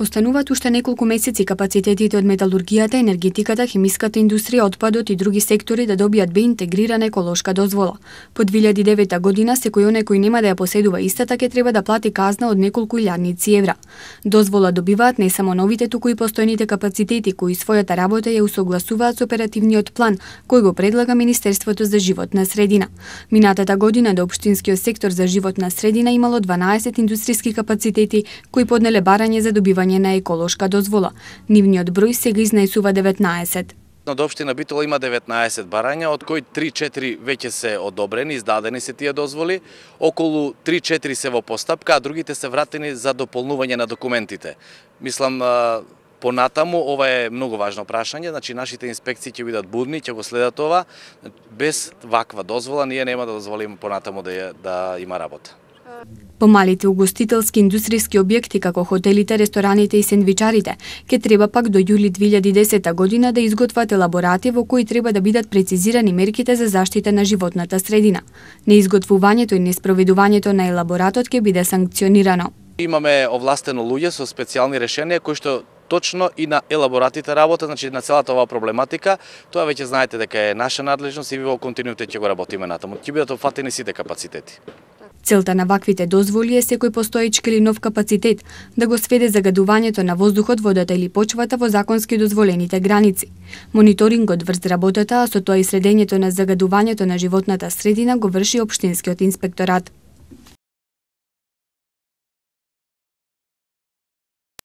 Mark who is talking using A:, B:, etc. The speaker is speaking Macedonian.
A: Остануваат уште неколку месеци капацитетите од металургијата, енергетиката, хемиската индустрија, отпадот и други сектори да добијат интегрирана еколошка дозвола. По 2009 година секој оној кој нема да ја поседува истата ќе треба да плати казна од неколку илјадници евра. Дозвола добиваат не само новите, туку и постојните капацитети кои својата работа ја усогласуваат со оперативниот план кој го предлага Министерството за животна средина. Минатата година до општинскиот сектор за животна средина имало 12 индустријски капацитети кои поднеле барање за добивање на еколошка дозвола. Нивниот број сега изнаесува 19.
B: Од општина Битола има 19 барања, од кои 3-4 веќе се одобрени, издадени се тие дозволи, околу 3-4 се во постапка, а другите се вратени за дополнување на документите. Мислам, понатаму ова е многу важно прашање, значи нашите инспекции ќе бидат будни, ќе го следат ова. Без ваква дозвола ние нема да дозволиме понатаму да има работа.
A: Помалите угостителски индустријски објекти како хотелите, рестораните и сендвичарите ќе треба пак до јули 2010 година да изготват елаборати во кои треба да бидат прецизирани мерките за заштита на животната средина. Неизготвувањето и неспроведувањето на елаборатот ќе биде санкционирано.
B: Имаме овластено луѓе со специјални решенија кои што точно и на елаборатите работа, значи на целата оваа проблематика. Тоа веќе знаете дека е наша надлежност и во континуитет ќе го работиме натаму. Ќе бидат опфатени сите капацитети.
A: Целта на ваквите дозволи е секој постоечки или нов капацитет да го сведе загадувањето на воздухот, водата или почвата во законски дозволените граници. Мониторингот врз работата, а со тоа и следењето на загадувањето на животната средина го врши општинскиот инспекторат.